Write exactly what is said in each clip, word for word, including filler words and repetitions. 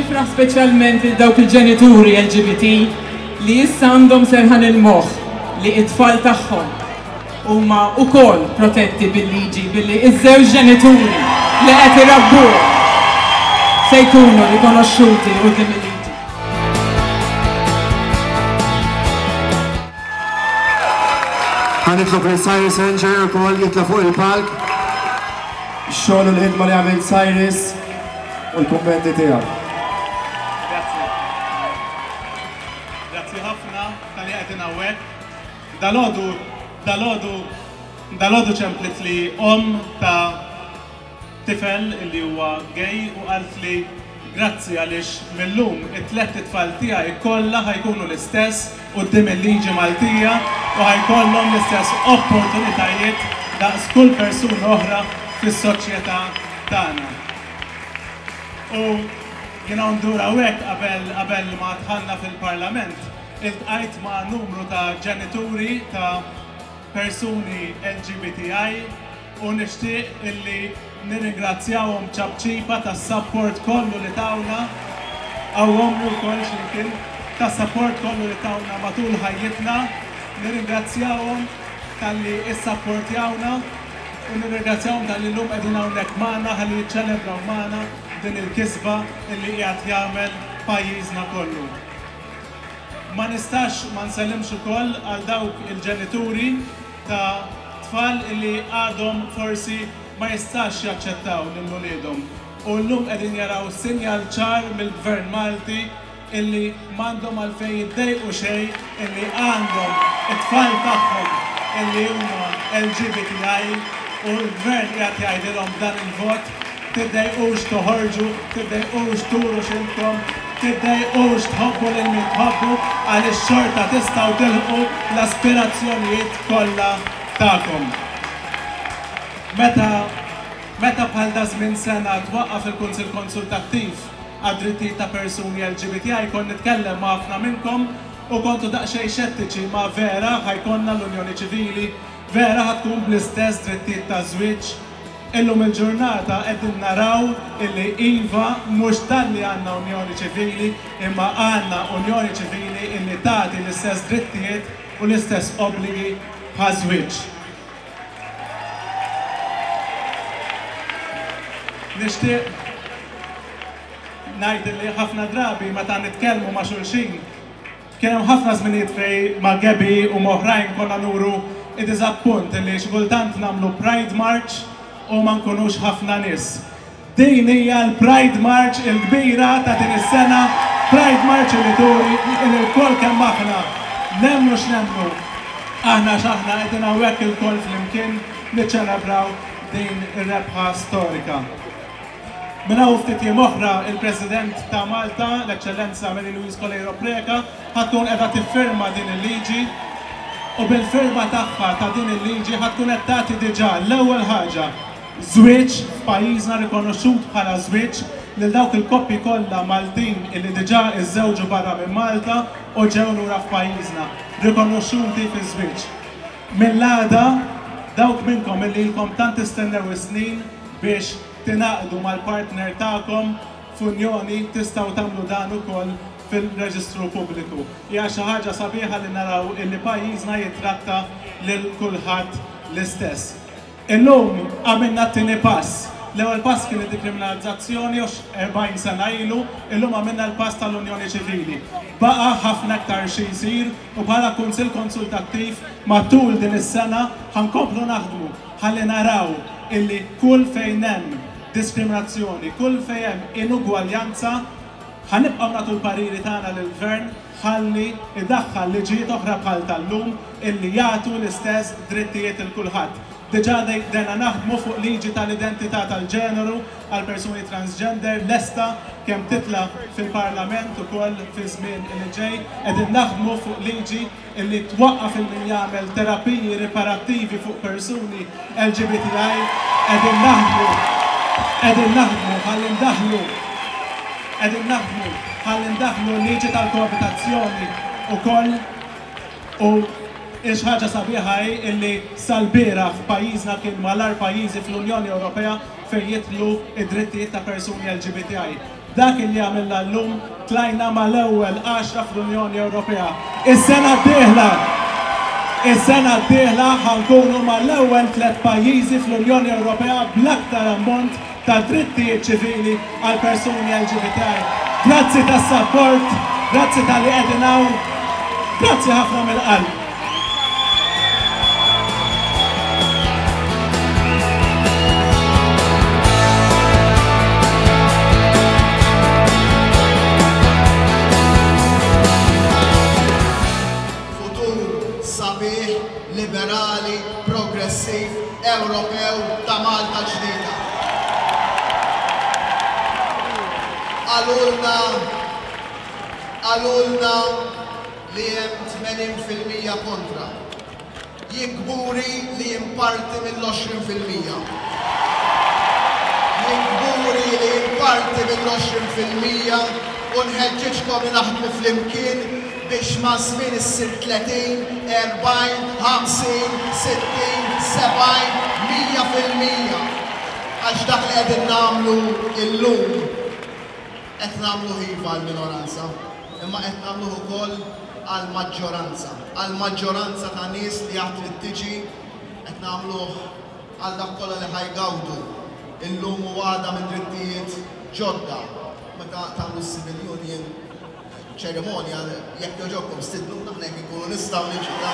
Nifraħ speċjalment lil dawk il-ġenituri L G B T li issa għandhom serħan il-moħħ li it-tfal tagħhom huma wkoll protetti bil-liġi, billi iż-żewġ ġenituri li qed irabbuhom se jkunu rikonoxxuti quddiem il-liġi. Ħa nitlob lil Cyrus Engerer ukoll jitla' fuq il-palk. Xogħol u l-ħidma li għamil Cyrus u l-kummenti tiegħu. Grazzi. Grazzi ħafna talli qegħdin hawnhekk. Dalgħodu, dalgħodu, dalgħodu ċemplitli omm ta' tifel illi huwa gay u qaltli grazzi għaliex millum it-tlet itfal tiegħi kollha ħa jkunu l-istess quddiem il-liġi Maltija u ħa jkollhom l-istess opportunitajiet daqs kull persuna oħra fis-soċjetà tagħna. U jiena ndur hawnhekk, qabel qabel ma dħalna fil-Parlament, iltqajt ma' numru ta' ġenituri ta' persuni L G B T I u nixtieq illi nirringrazzjawhom ċapċipa tas-support kollu li tawna, hawn ukoll x'imkien, tas-support kollu li tawna matul ħajjitna, nirringrazzjawhom talli issapportjawna u nirringrazzjawhom talli llum qegħdin hawnhekk magħna ħalli jiċċelebraw magħna din il-kisba illi qiegħed jagħmel pajjiżna kollu. Ma nistax ma nsellimx ukoll għal dawk il-ġenituri ta' tfal illi għadhom forsi ma jistax jaċċettaw lil uliedhom. U llum qegħdin jaraw sinjal ċar mill-Gvern Malti illi m'għandhom għalfejn jiddejqu xejn illi għandhom it-tfal tagħhom illi huma L G B T I u l-Gvern qiegħed jgħidilhom dan il-vot: tiddejqux toħorġu, tiddejqux turu x'intom, tiddejqux tħobbu lil min tħobbu, għaliex xorta tistgħu tilħqu l-aspirazzjonijiet kollha tagħkom. Meta meta bħal da żmien sena twaqqaf il-Kunsill Konsultattiv għad-drittijiet ta' persuni L G B T I, kont nitkellem ma' ħafna minnkom u kontu daqsxejn xettiċi: ma vera ħa jkollna l-Unjoni Ċivili, vera ħa tkun bl-istess drittijiet ta' żwieġ? Illum il-ġurnata qegħdin naraw illi iva, mhux talli għandna Unjoni Ċivili, imma għandna Unjoni Ċivili illi tagħti l-istess drittijiet u l-istess obbligi bħal żwieġ. Nixtieq ngħid li ħafna drabi meta nitkellmu ma' xulxin, kien hemm ħafna żminijiet fejn ma' Gabi u oħrajn konna nuru id-diżappunt li xi kultant nagħmlu Pride March u ma nkunux ħafna nies. Din hija l-Pride March il-kbira ta' din is-sena, Pride March li turi li lkoll kemm aħna nemmnu x'nemmnu. Aħna x'aħna, qegħdin hawnhekk ilkoll flimkien niċċelebraw din ir-rebħa storika. Minn hawn ftit jiem oħra, il-President ta' Malta, l-Eċċellenza Mary Louise Coleiro Preca, ħa tkun qiegħda tiffirma din il-liġi u bil-firma tagħha ta' din il-liġi ħa tkun qed tagħti diġà l-ewwel ħaġa żwieġ f'pajjiżna, rikonoxxut bħala żwieġ, lil dawk il-koppji kollha Maltin illi diġà iżżewġu barra minn Malta u ġew lura f'pajjiżna, rikonoxxuti fi żwieġ. Mill-għada, dawk minnkom illi ilkom tant tistennew is-snin biex tingħaqdu mal-partner tagħkom f'unjoni, tistgħu tagħmlu dan ukoll fil-reġistru pubbliku. Hija xi ħaġa sabiħa li naraw illi pajjiżna jitratta lil kulħadd l-istess. Illum għamilna t-tieni pass. L-ewwel pass kien id-dikriminalizzazzjoni erbgħin sena ilu, illum għamilna l-pass tal-Unjoni Ċivili. Baqa' ħafna aktar xi jsir u bħala Kunsill Konsultattiv matul din is-sena ħa nkomplu naħdmu ħalli naraw illi kull fejn hemm diskriminazzjoni, kull fejn hemm inugwaljanza, ħa nibqgħu nagħtu l-pariri tagħna lill-gvern ħalli idaħħal liġijiet oħra bħal tal-lum illi jagħtu l-istess drittijiet lil kulħadd. Diġà bdejna naħdmu fuq liġi tal-identità tal-ġeneru għal persuni transgender, lesta kemm titla' fil-Parlament ukoll fi żmien li ġej. Qegħdin naħdmu fuq liġi illi twaqqaf il min jagħmel terapiji riparattivi fuq persuni L G B T I. Qegħdin naħdmu qegħdin naħdmu ħalli ndaħlu qegħdin naħdmu ħalli ndaħlu liġi tal-koabitazzjoni ukoll. U ħaġa sabiħa hi illi sal-bieraħ f'pajjiżna kien mal-agħar pajjiżi fl-Unjoni Ewropea fejn jidħlu id-drittijiet ta' persuni L G B T I. B'dak li għamilna llum tlajna mal-ewwel għaxra fl-Unjoni Ewropea. Is-sena d-dieħla, is-sena d-dieħla ħa nkunu mal-ewwel tliet pajjiżi fl-Unjoni Ewropea bl-aktar ammont ta' drittijiet ċivili għal persuni L G B T I. Grazzi tas-support, grazzi talli qegħdin hawn, grazzi ħafna mill-qalb. Futur sabiħ, liberali, progressiv, Ewropew ta' Malta ġdida. Qalulna, qalulna li hemm tmenin fil-mija kontra. Jien kburi li jien parti mill-għoxrin fil-mija. Jien kburi li jien parti mill-għoxrin fil-mija u nħeġġiġkom li naħdmu flimkien biex ma' żmien issir tletin, erbgħin, ħamsin, sittin, sebgħin, mija fil-mija. Għax dak li qegħdin nagħmlu illum qed nagħmlu iva għall-minoranza, imma qed nagħmluh ukoll għall-maġġoranza, għall-maġġoranza ta' nies li għad trid tiġi, qed nagħmluh għal dak kollha li ħa jgawdu illum u għada minn drittijiet ġodda. Meta tagħmlu civil union ċerimonja, jekk jogħġobkom stidnuna aħna jekk inkunu nistgħu niġu da.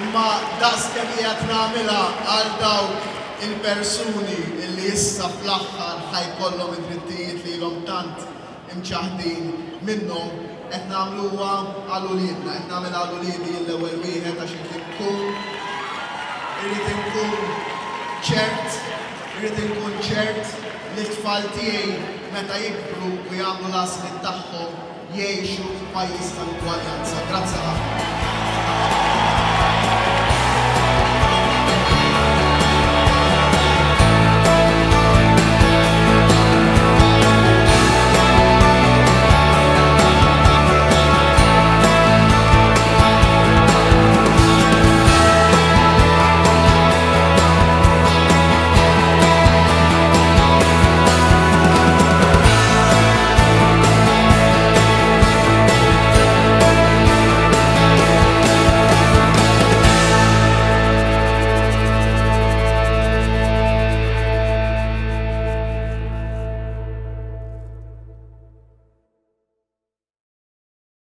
Imma daqs kemm qiegħed nagħmilha għal dawk il-persuni illi issa fl-aħħar ħa jkollhom id-drittijiet li ilhom tant imċaħdin minnhom, qed nagħmluha għal uliedna, qed nagħmel għal uliedi l-ewwel wieħed għax irid inkun irrid inkun ċert, irrid inkun ċert li t-tfal tiegħi meta jikbru u jagħmlu l-għażliet tagħhom jgħixu f'pajjiż tal-ugwaljanza. Grazzi ħafna.